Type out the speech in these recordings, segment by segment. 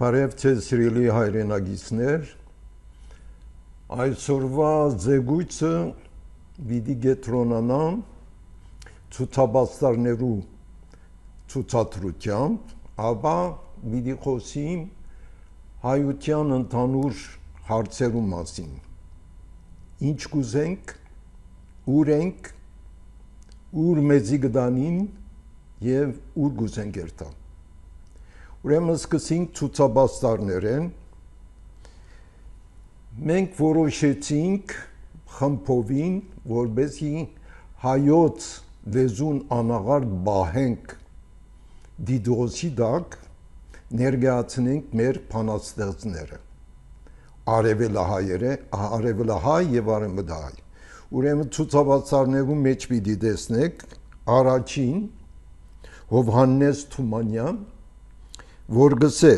Բարև ձեզ սիրելի հայրենագիտներ, այսօրվա զեկույցը պիտի կենտրոնանա ցուցաբաստարներու ցուցադրությամբ, ապա պիտի խոսիմ հայության ընդհանուր հարցերու մասին։ Ինչ կուզենք, ուր ենք, ուր մեզի գտանին եւ ուր կուզենք երթալ։ Ուրեմն սկսենք ցուցաբաստարներեն։ Մենք որոշեցինք խմբովին, որպեսզի հայոց լեզուն անաղարտ բահենք դիդրոսի տակ, ներկայացնենք մեր բանաստեղծները, արևելահայ եւ արևմտահայ։ Ուրեմն ցուցաբաստարներու մեջ պիտի տեսնեք առաջին Հովհաննես Թումանյան, որ գսե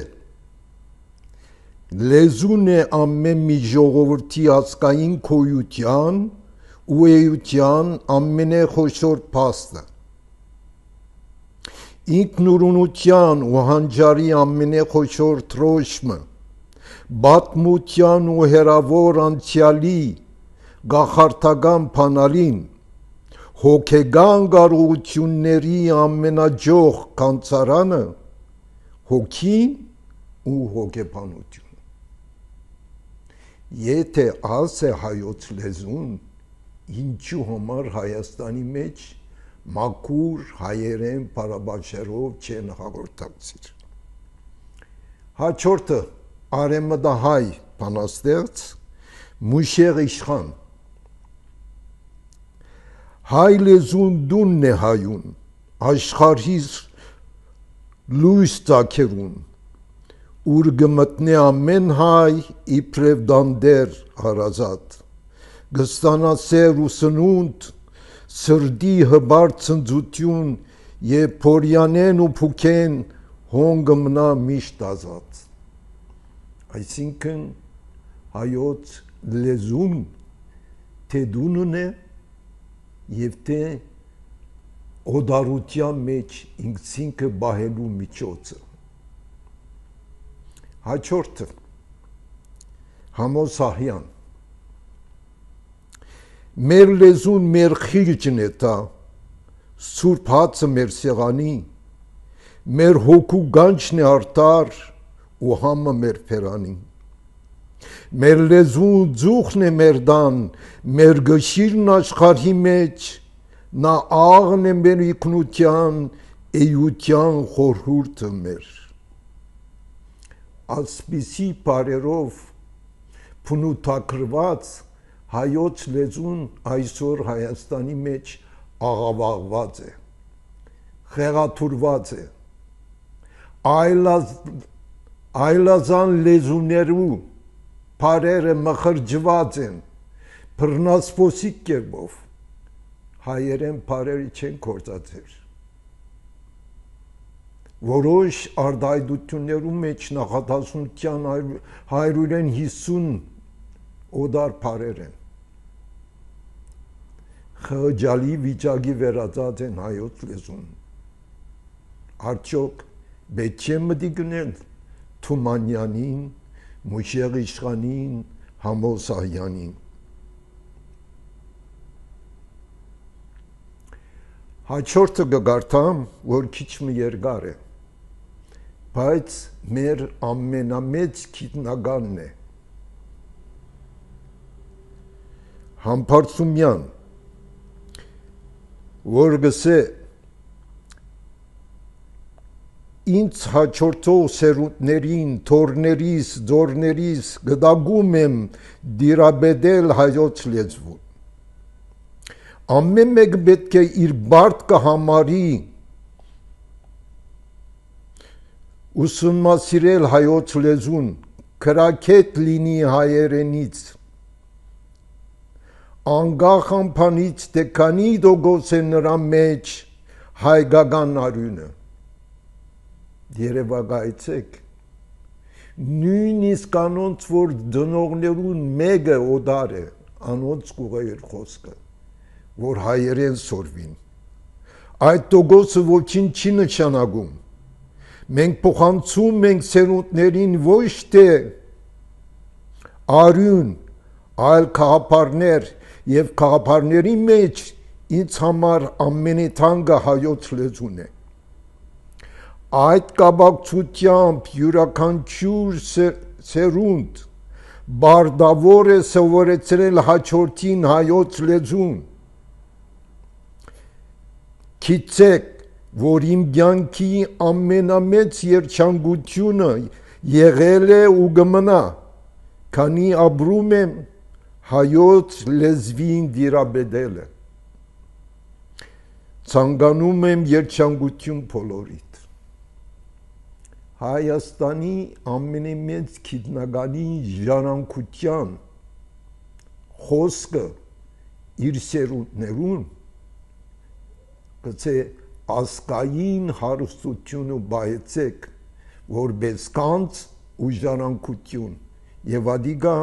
լեզուն է ամեն մի ժողովրդի ազգային քոյության ու էության ամենախոշոր փաստը, ինքնուրույնության ու հանճարի ամենախոշոր թրոշմը, բազմության ու հերավոր անցյալի գախարդական փանալին, հոգեգան կարողությունների ամենաջող կանցարանը, հոգին ու հոգեբանությունը։ Եթե աս է հայոց լեզուն, ինչու համար Հայաստանի մեջ մաքուր հայերեն բարաբաշխերով չեն հաղորդակցիր։ Հաջորդը արևմտահայ բանաստեղծ Մուշեղ Իշխան։ Հայ լեզուն դունն է հայուն, աշխարհիս լույս ծագերուն, ուր գմտնե ամեն հայ իբրև դանդեր հարազատ, գստանասեր ու սնունդ, սրդի հբար ցնծություն եւ փորյանեն ու փուքեն հոնգը մնա միշտ ազատ։ Այսինքն հայոց լեզուն թե դունն է եւ թե օդարության մեջ ինքնինքը բահելու միջոցը։ Հաջորդը Համոսահյան։ Մեր լեզուն մեր խիղճն է տա, սուրբ հացը մեր սեղանի, մեր հոգու գանչն է արտար ու համը մեր փերանի։ Մեր լեզուն ձուխն է մեր դան, մեր գշիրն աշխարհի մեջ, նա աղն է մեր ինքնության, էության խորհուրդը մեր։ Ասպիսի բարերով փնութագրված հայոց լեզուն այսօր Հայաստանի մեջ աղավաղված է, խեղաթուրված է, այլազան լեզուներու բարերը մխրջված են, բռնասպոսիկ կերպով, հայերեն բարերը չեն գործածեր։ Որոշ արտահայտություններու մեջ նախադասության 150 օդար բարեր են։ Խղճալի վիճակի վերածած են հայոց լեզուն։ Արդյոք պետք չէ մտի գնել Թումանյանին, Մուշեղ Իշխանին, Համոսահյանին։ Հաջորդը կգարտամ, որ քիչ մի երկար է, բայց մեր ամենամեծ գիտնականն է։ Համբարձումյան, որ գսե ինձ հաջորդող սերունդներին, թորներիս, ձորներիս գտագում եմ դիրաբեդել հայոց լեզվուն։ Ամեն մեկ պետք է իր բարդ կհամարի ուսումնասիրել հայոց լեզուն, քրաքետ լինի հայերենից, անկախ ամփանից թե քանի տոկոս է նրա մեջ հայկական արյունը։ Երևակայեցեք, նույնիսկ անոնց, որ դնողներուն մեկը օդար է, անոնց կուղեր խոսքը, որ հայերեն սորվին։ Այդ տոկոսը ոչինչ չի նշանակում։ Մենք փոխանցում ենք սերունդներին ոչ թե արյուն, այլ քաղաքարներ եւ քաղաքարների մեջ ինձ համար ամենաթանկը հայոց լեզուն է։ Այդ կապակցությամբ յուրաքանչյուր սերունդ բարդավոր է սովորեցրել հաջորդին հայոց լեզուն։ Գիտեք, որ իմ կյանքի ամենամեծ երջանկությունը եղել է ու կմնա, քանի ապրում եմ հայոց լեզվին դիրաբետելը։ Ցանկանում եմ երջանկություն բոլորիդ։ Հայաստանի ամենամեծ գիտնականի ժառանգության խոսքը իր սերունդներուն գցե ասկային հարստություն ու բայեցեք որպես կանց ու ժառանգություն եւ ադիգա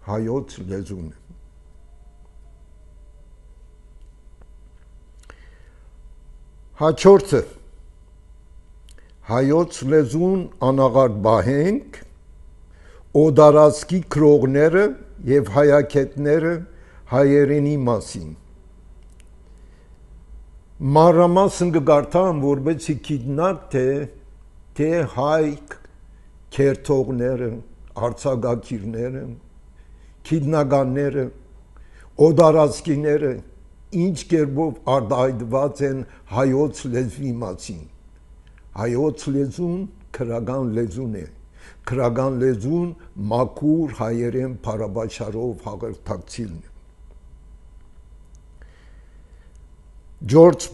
հայոց լեզուն է։ Հաջորդը հայոց լեզուն անաղարտ բահենք օդարածքի քրողները եւ հայագետները հայերենի մասին։ Մանրամասն կգարտամ, որպեսզի գիտնաք թե հայ քերթողները, արձակագիրները, գիտնականները, օդարածքիները ինչ կերպով արտահայտված են հայոց լեզվի մասին։ Հայոց լեզուն քրական լեզուն է, քրական լեզուն մաքուր հայերեն փարաբաչարով հաղորդակցիլն է։ Ջորջ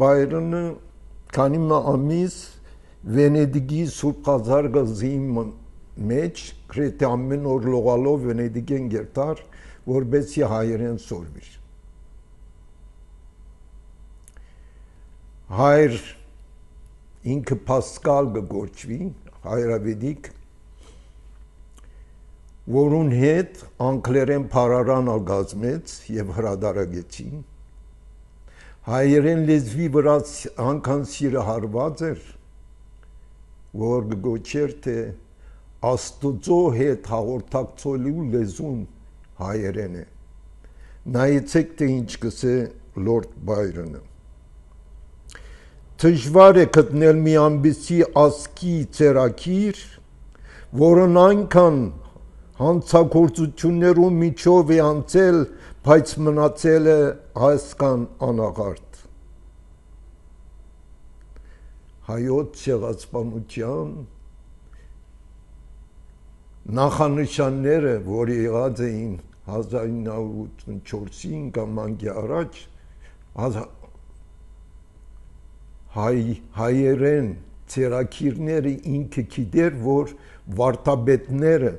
Բայրոնը քանի ամիս Վենեդիգի Սուրբ Խազար գազի մեջ գրեթե ամեն օր լողալով Վենեդիգեն գերտար, որպեսզի հայերեն սորվի։ Հայր ինքը Պասկալ կգոչվի, հայրավետիք, որուն հետ անգլերեն փարարան ալգազմեց եւ հրադարագեցին։ Հայերեն լեզվի վրա անգան սիրը հարված էր, որ կգոչեր թե Աստուծո հետ հաղորդակցելու լեզուն հայերեն է։ Նայեցեք թե ինչ կսե Լորդ Բայրոնը։ Դժվար է գտնել մի ամբիսի ասկի ծերակիր, որն այնքան հանցագործություններում միջով է անցել, բայց մնացել է այսքան անաղարտ։ Հայոց ցեղասպանության նախանշանները, որ եղած էին 1984-ին կամ անգի առաջ, հայերեն ծերակիրները ինքը գիտեր, որ վարդապետները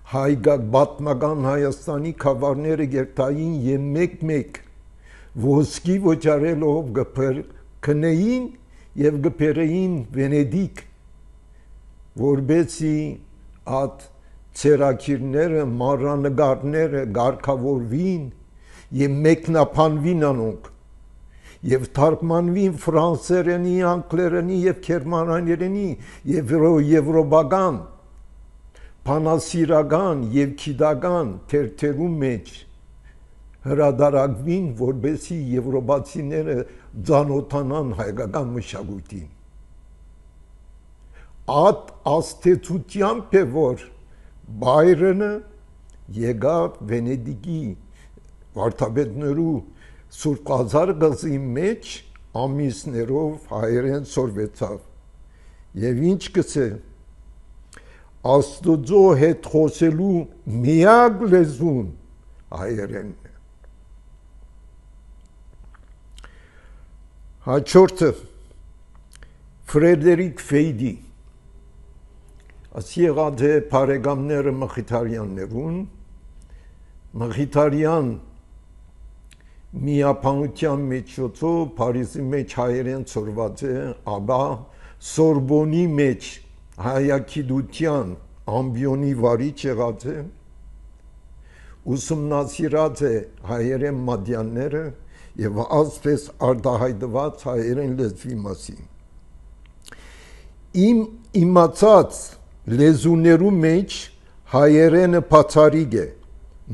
հայգակ պատմական Հայաստանի քավարները գերտային եւ մեկ ոսկի ոչարելով գնեին եւ գբերեին Վենեդիկ, որբեսի այդ ծերակիրները մանրանկարները գարկավորվին եւ մեկնաբանվին անոնք եւ թարգմանվին ֆրանսերենի, անգլերենի եւ գերմաներենի եւ եվրոպական բանասիրական եւ քիդական թերթերու մեջ հրադարագվին, որբեսի եվրոպացիները ծանոթանան հայկական մշակույթին։ Այդ աստեցությամբ է, որ Բայրոնը եկավ Վենեդիգի վարդապետներու Սուրբ Խազար գազի մեջ ամիսներով հայերեն սորվեցավ եւ ինչ կսե Աստուծո հետ խոսելու միակ լեզուն հայերենն է։ Հաջորդը Ֆրեդերիկ Ֆեյդի ասի եղած է բարեկամները Մխիթարյաններուն Մխիթարյան միապանության միջոցով Փարիզի մեջ հայերեն սորված է, ապա Սորբոնի մեջ հայագիտության ամբիոնի վարիչ եղած է, ուսումնասիրած է հայերեն մատյանները եւ ասպես արտահայտված հայերեն լեզվի մասին։ Իմ իմացած լեզուներու մեջ հայերենը բացառիկ է,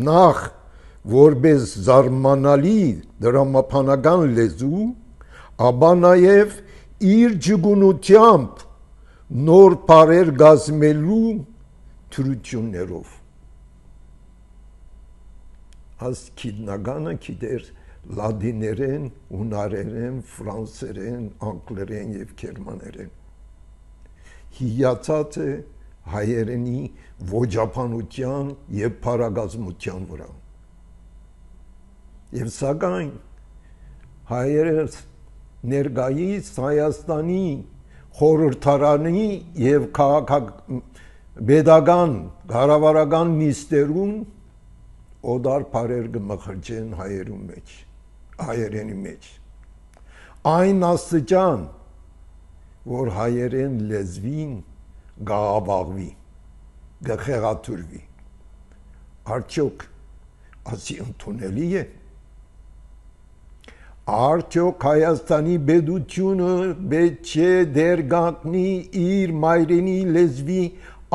նախ որպես զարմանալի դրամապանական լեզու, ապա նաև իր ջգունությամբ նոր բառեր գազմելու թրություններով։ Աս քիդնագանը գիտեր լատիներեն, հունարերեն, ֆրանսերեն, անգլերեն եւ գերմաներեն։ Հիացած է հայերենի ոճաբանության եւ բառագազմության վրա։ Եվ սակայն հայերը ներկայիս Հայաստանի խորհրդարանի եւ քաղաքապետական կառավարական նիստերում օդար բառեր կմխրճեն հայերենի մեջ։ Այն աստիճան, որ հայերեն լեզվին գաղավաղվի, գխեղաթուրվի։ Արդյոք ասի ընդունելի է։ Արդյոք Հայաստանի պետությունը պետք է դեր կանգնի իր մայրենի լեզվի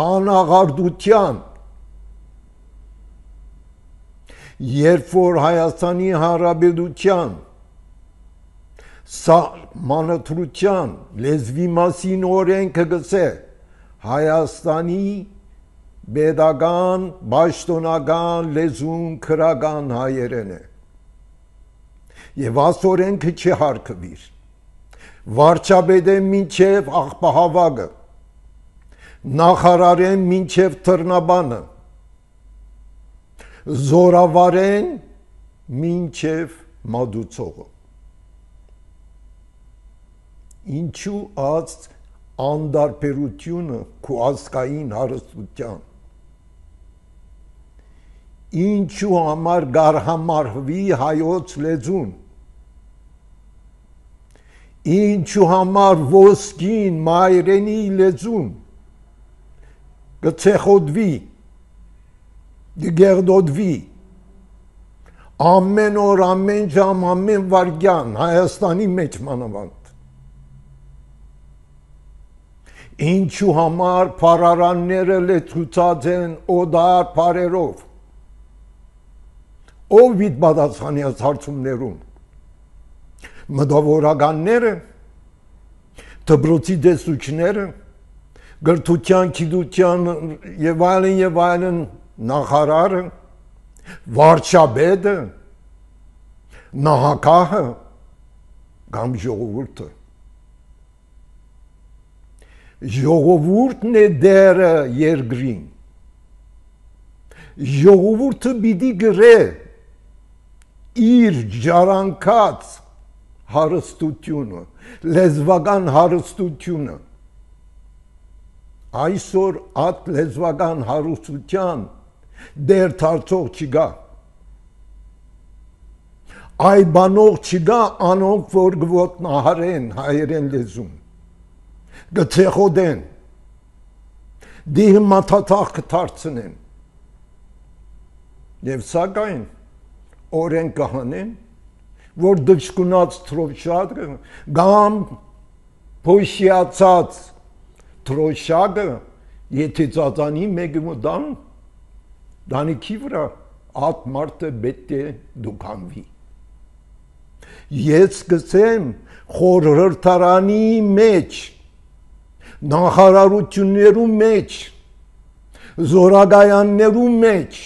անաղարդության, երբ որ Հայաստանի Հանրապետության սահմանադրության լեզվի մասին օրենքը գսե Հայաստանի պետական պաշտոնական լեզուն քրական հայերեն է եւ այս օրենքը չհարգվիր վարչապետը մինչեւ աղբահավագը նախարարեն մինչեւ թռնաբանը զորավարեն մինչեւ մատուցողը ինչու այս անդարբերությունը քո ազգային հարստության ինչու համար գարհամարվի հայոց լեզուն ինչու համար ոսկին մայրենի լեզուն գցեխոդվի դգերդոդվի ամեն օր ամեն ժամ ամեն վարքյան Հայաստանի մեջ մանավանդ ինչու համար փարարանները լեցուցած են օդար փարերով ով վիտ պատասխանի այս հարցումներում մտավորականները դպրոցի դեսուչները գրթության գիտության եւ այլն նախարարը վարչապետը նահանգահը կամ ժողովուրդը ժողովուրդն է դերը երկրին ժողովուրդը պիտի գրե իր ժառանգած հարստությունը լեզվական հարստությունը այսօր այդ լեզվական հարստության դեր թարցող չկա այ բանող չկա անոնք որ գոտնահարեն հայերեն լեզուն գցեխոդեն դիհ մաթաթախ կթարցնեն եւ սակայն օրեն կհանեն որ դժկունած թրոշակը կամ փոշիացած թրոշակը եթե ծածանի մեկը մտան դանիքի վրա այդ մարդը պետք է դուքանվի ես գսեմ խորհրդարանի մեջ նախարարություններու մեջ զորագայաններու մեջ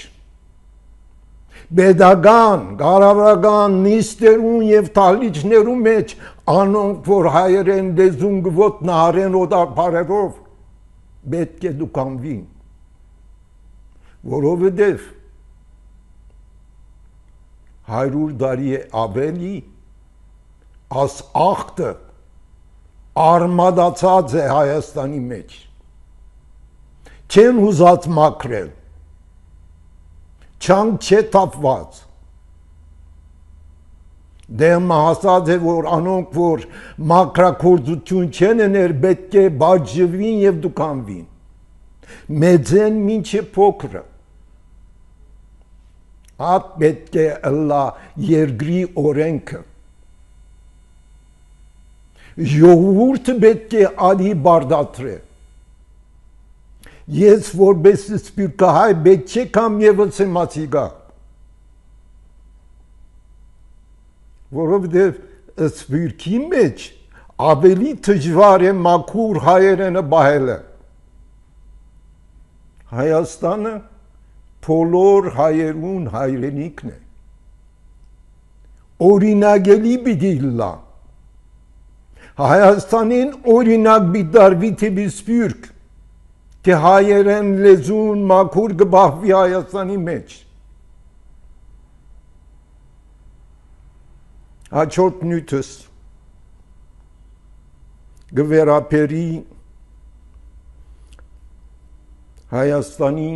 պետական կառավարական նիստերուն եւ թալիչներու մեջ անոնք որ հայերեն լեզուն գոտնահարեն օդապարերով պետք է դուքանվին որովհետեւ 100 տարի ավելի աս ախտը արմադացած է Հայաստանի մեջ չեն ուզած մաքրել չանք չէ թափված դեմ հասած է որ անոնք որ մաքրակորձություն չեն ener պետք է բաժվին եւ դուքանվին մեծեն մինչե փոքրը այդ պետք է ըլլա երկրի օրենքը Ժողովուրդը պետք է ալի բարդատրե։ Ես որպես սպիրկահայ պետք չէ կամ եւս իմացի գա։ Որովհետև սպիրկի մեջ ավելի դժվար է մաքուր հայերենը բահելը։ Հայաստանը բոլոր հայերուն հայրենիքն է։ Օրինակելի պիտի լա։ Հայաստանին օրինակ բիդարվի թեպի սպիրկ, թե հայերեն լեզուն մաքուր գբահվի Հայաստանի մեջ։ Հաջորդ նյութս գվերապերի Հայաստանի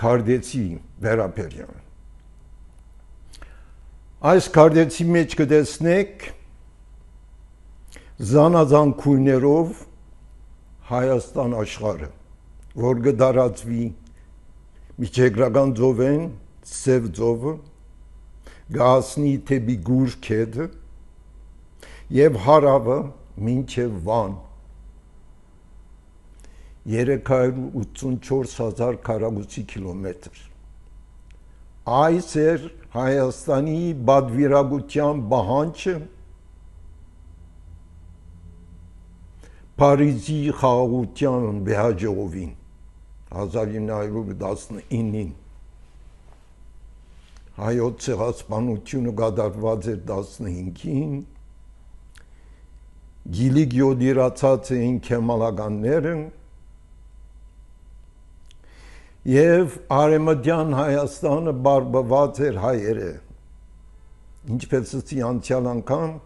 քարտեզի վերապերյալ։ Այս քարտեզի մեջ կտեսնեք զանազան քույներով Հայաստան աշխարհը, որ կդարածվի միջերկրական ծովեն, Սև ծովը, գասնի թեպի Գուր քեդը եւ հարավը մինչեւ Վան 384,000 քառակուսի կիլոմետր։ Այս էր Հայաստանի բادվիրագության բանջը Փարիզի խաղաղության վեհաջողովին 1919-ին հայոց ցեղասպանությունը կատարված էր 15-ին գիլիկ յոդիրացած էին քեմալականները եւ արեմդյան Հայաստանը բարբված էր հայերը ինչպես անցյալ անգամ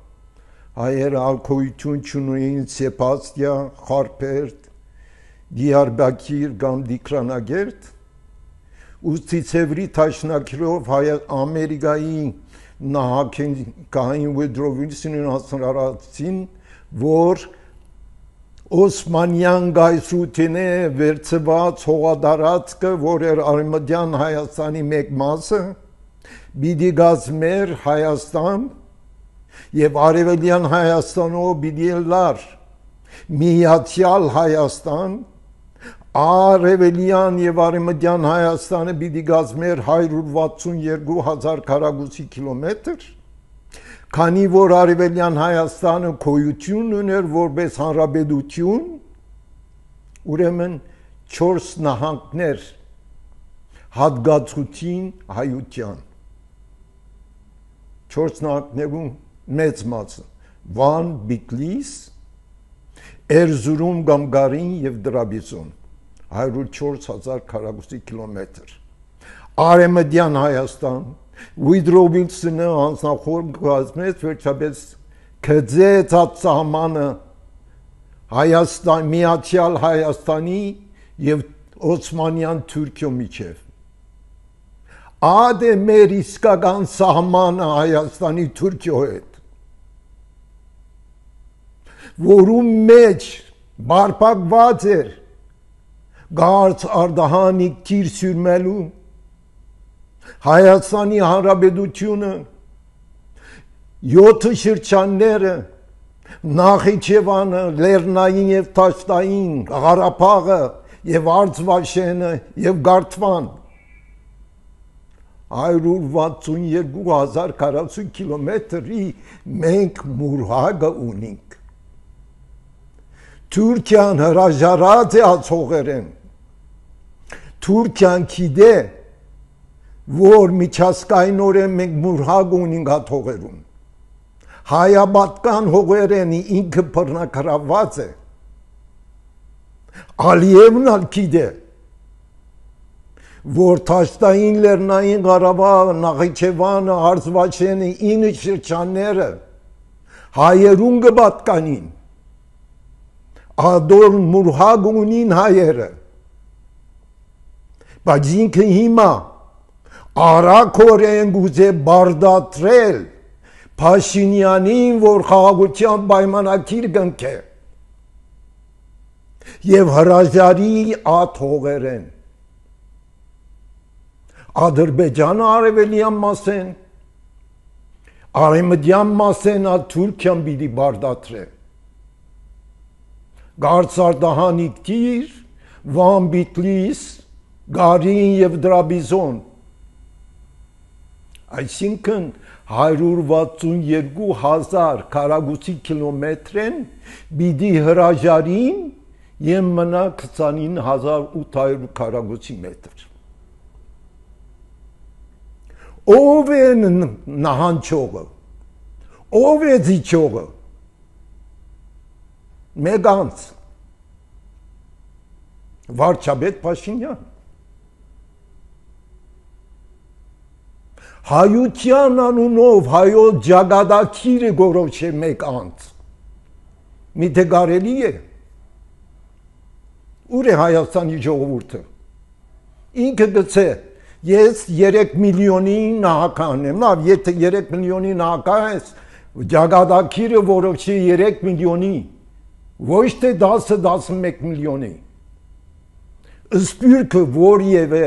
հայերը ալկոյություն չունեին Սեբաստիա, Խարպերտ, Դիարբակիր կամ Դիկրանագերտ ուստի ծևրի թաշնակիրով Ամերիկայի նահանգային Ուդրո Վիլսոնին հասարացին, որ Օսմանյան գայսրութին է վերցված հողադարածքը, որ էր արեմդյան Հայաստանի մեկ մասը, պիտի գազմեր Հայաստան եւ արևելյան Հայաստանով պիտի լար միացյալ Հայաստան, արևելյան եւ արևմտյան Հայաստանը պիտի գազմեր 162,000 քառակուսի կիլոմետր, քանի որ արևելյան Հայաստանը գոյություն ուներ որպես հանրապետություն, ուրեմն 4 նահանգներ հատկացուցին հայության 4 նահանգներում մեծ մասը Վան, Բիթլիս, Էրզուրում, Գամգարին եւ Դրաբիզոն 104,000 քառակուսի կիլոմետր։ Արեմդյան Հայաստան Ուդրո Վիլսոնը անձնախորհ կազմեց վերջապես գծեց սահմանը Հայաստան միացյալ Հայաստանի եւ Օսմանյան Թուրքիո միջև։ Ադե մեր իսկական սահմանը Հայաստանի Թուրքիո հետ որում մեջ բարփակված էր գարց արդահանիկ թիր սյուրմելու Հայաստանի Հանրապետությունը 7 շրջանները Նախիջևանը, Լեռնային եւ Դաշտային, Ղարաբաղը եւ Արցվաշենը եւ Գարթվան 162,000 քառակուսի կիլոմետրի մենք մուրհագը ունենք։ Թուրքիան հրաժարած է ածողերեն։ Թուրքիան գիտե, որ միջազգայինորեն մենք մուրհագ ունենք հաթողերում։ Հայաբատկան հողերենի ինքը բռնակրաված է։ Ալիևն ալ գիտե, որ Դաշտային, Լեռնային Ղարաբաղը, Նախիջևանը, Արցվաշենը 9 շրջանները հայերուն կպատկանին։ Ադոր մուրհագ ունին հայերը, բայց ինքը հիմա արագորեն գուզե բարդատրել Փաշինյանին, որ խաղաղության պայմանագիր կնքե եւ հրաժարի աթողերեն Ադրբեջանը արևելյան մասեն, Արեմդյան մասենա Թուրքիան բիդի բարդատրե։ Գարցարդահանիկ տիր, Վան Բիտլիս, Գարին և Դրաբիզոն։ Այսինքն 162,000 քառակուսի կիլոմետրեն բիդի հրաժարին և մնա 29,800 քառակուսի մետր։ Ով է նահանջողը, ով է զիջողը, մեկ անձ, վարչապետ Փաշինյան։ Հայության անունով հայոց ջագադակիրը գորոշե մեկ անձ, միթե կարելի է։ Ուր է Հայաստանի ժողովուրդը։ Ինքը գցե ես 3 միլիոնի նահական եմ, լավ, եթե 3 միլիոնի նահական ես, ջագադակիրը որոշի 3 միլիոնի, ոչ թե 10-11 միլիոնի։ Սպյուրքը որևէ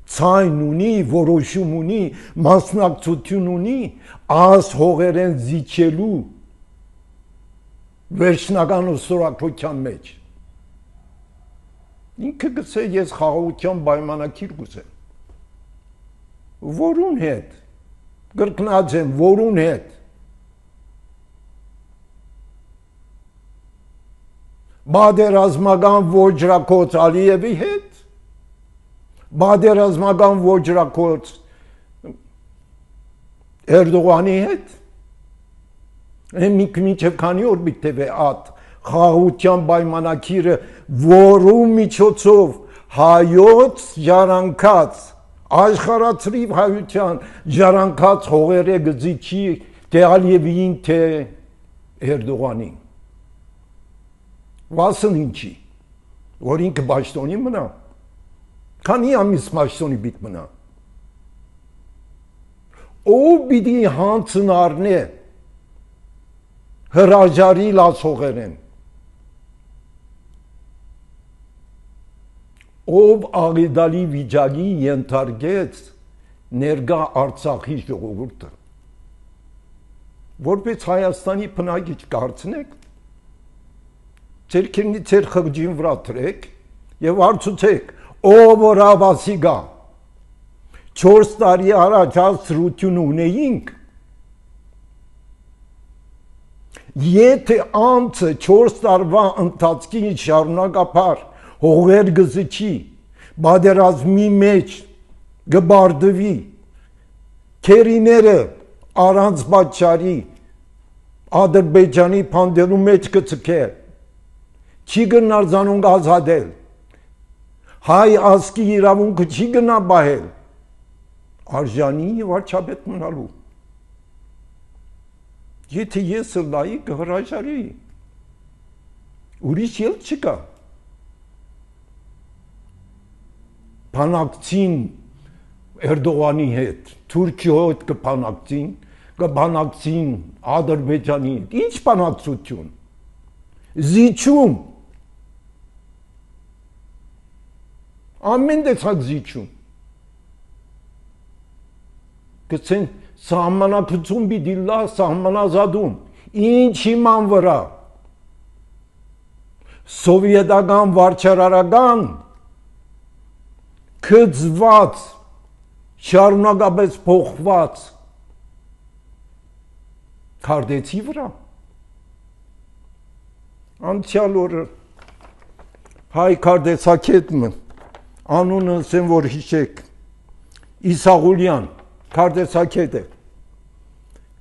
ցայն ունի, որոշում ունի, մասնակցություն ունի, աս հողերեն զիջելու վերջնական ուսորակության մեջ։ Ինքը գցե ես խաղաղության պայմանագիր կուզեմ։ Որուն հետ, կրկնած եմ, որուն հետ։ Բادرազմական ոճրակոց Ալիևի հետ, բادرազմական ոճրակոց Էրդողանի հետ, մինչև քանի օր բիտև է ատ խաղաղության պայմանագիրը, որու միջոցով հայոց ժառանգած, աշխարհացրիվ հայության ժառանգած հողերը գզիչի թե Ալիևին, թե Էրդողանին։ Վասն ինչի, որ ինքը պաշտոնի մնա, քանի ամիս պաշտոնի պիտի մնա։ Ով պիտի հանցն առնե հրաժարի լացողերեն, ով աղիդալի վիճակի ենթարկեց ներկա Արցախի ժողովուրդը, որպես Հայաստանի բնակիչ կարծնեք, ձեր քերնի ձեր խղճին վրա դրեք եւ հարցուցեք, ով որ հավասի գա 4 տարի առաջ հասցրություն ունեինք, եթե անձը 4 տարվա ընթացքին շարունակապար հողեր գզիչի, բادرազմի մեջ գբարդվի, քերիները առանց պատճառի Ադրբեջանի փանդելու մեջ կցկել, չի գնար զանոնք ազատել, հայ ազգի իրավունքը չի գնա բահել, արժանի վարչապետ մնալու։ Եթե ես լայի կհրաժարի, ուրիշ ելք չկա։ Բանակցին Էրդողանի հետ, Թուրքիո հետ կբանակցին Ադրբեջանի հետ, ինչ բանակցություն, զիջում, ամեն տեսակ զիջում, գցեն սահմանակցություն պիտի լա սահմանազատում, ինչ իման վրա, սովետական վարչարարական քծված, շարունակապես փոխված քարտեզի վրա։ Անցյալ օրը հայ քարտեզակետը անունը ասեմ որ հիշեք, Իսաղուլյան քարտեզակետը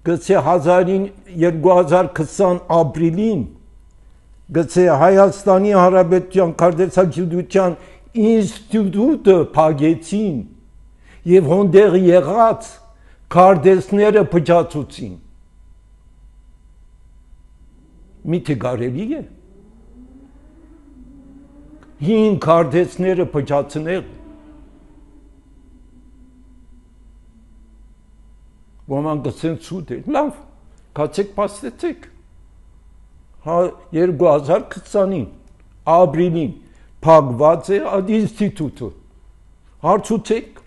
գցե 2020 ապրիլին գցե Հայաստանի Հանրապետության քարտեզագիտության ինստիտուտը փակեցին եւ հոնդեղ եղած քարտեզները փչացուցին։ Միթե կարելի է հին քարտեզները փչացնել։ Ոմանք գցեն ցույց է, լավ, կացեք պաստեցեք։ 2020-ին ապրիլին փակված է այդ ինստիտուտը։ Հարցուցեք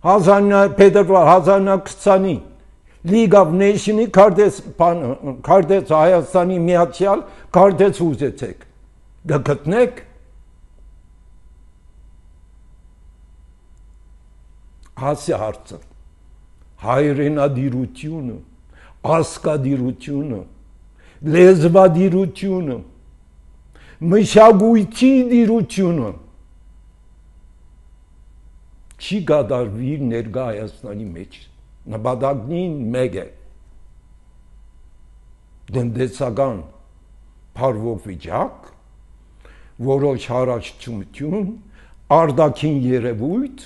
1920-ին League of Nations-ի քարտեզ Հայաստանի միացյալ քարտեզ ուզեցեք դա գտնեք հասի հարցը հայրենադիրությունը ազգադիրությունը լեզվադիրությունը մշակույթի դիրությունը չի գադարվի ներկա Հայաստանի մեջ նպատակին մեկ է դնդեսական փարվող վիճակ որոշ հարաճություն արտաքին երևույթ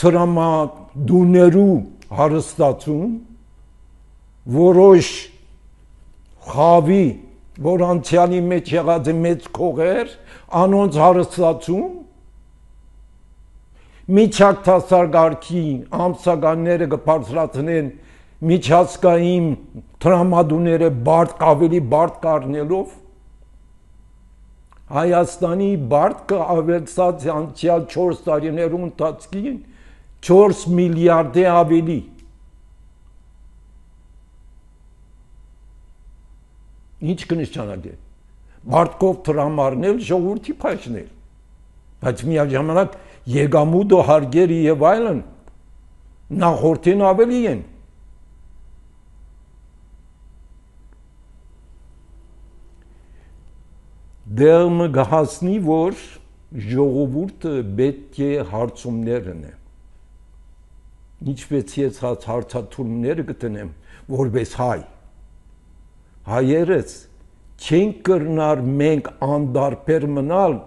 տրամադուներու հարստացում որոշ խավի որ անցյալի մեջ եղած է մեծ քողեր անոնց հարստացում միջակտասարգարքի ամսականները կբարձրացնեն միջազգային տրամադուները ավելի բարդ կառնելով Հայաստանի բարդը ավելացած անցյալ 4 տարիներու ընթացքին 4 միլիարդ է ավելի ինչ կնշանակի բարդկով տրամարնել ժողովրդի փաշնել բայց միաժամանակ եկամուտը հարգերը եւ այլն նախորդին ավելի են դերմը գահասնի որ ժողովուրդը պետք է հարցումներն է ինչպես ես հարցաթուրները գտնեմ որպես հայ հայերս չեն կրնար մենք անդարբեր մնալ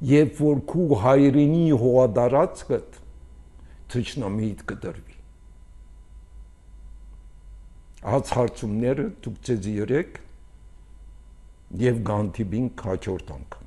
Երբ որ քու հայրենի հողադարածքդ թշնամիդ կդրվի Այս հարցումները դուք ձեզ երեք եւ գանտիբին քաչորդ անգամ